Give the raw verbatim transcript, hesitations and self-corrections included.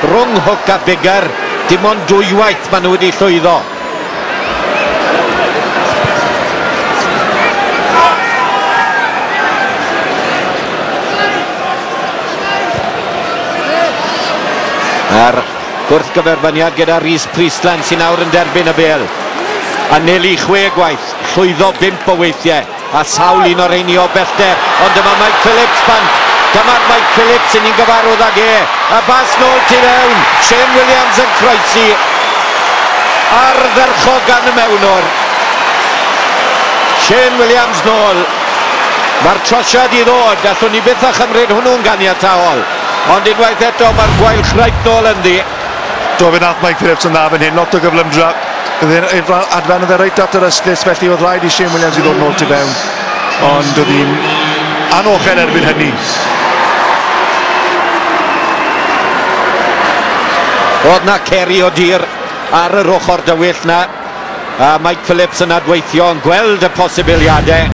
Rhwng Hook a Biggar, dim ond dwywaith maen nhw wedi llwyddo. A'r gwrthgyferbyniad gyda Rhys Priestland sy'n awr yn derbyn y bêl. Anelu chwe gwaith, llwyddo bump o weithiau, a sawl un o'r rheini o bellter, ond dyma Mike Phillips bant. Dyma'r Mike Phillips sy'n ni'n gyfarwydd ag e. A bas nôl tu fewn, Shane Williams yn croesi. Ardderchog gan y mewnwr. Shane Williams nôl. Mae'r trosiad i ddod, allwn ni byth â chymryd hwnnw'n ganiataol. Ond unwaith eto mae'r Gweilch reit nôl ynddi. Do, fe nath Mike Phillips yn dda fan hyn, lot o gyflymdra. Adfen oedd e reit at yr ystlys, felly oedd rhaid i Shane Williams i ddod nôl tu fewn. Ond oedd hi'n anochel erbyn hynny. Oedd na ceri o dir ar yr ochr dywyll na. A Mike Phillips yn adweithio, yn gweld y posibiliadau.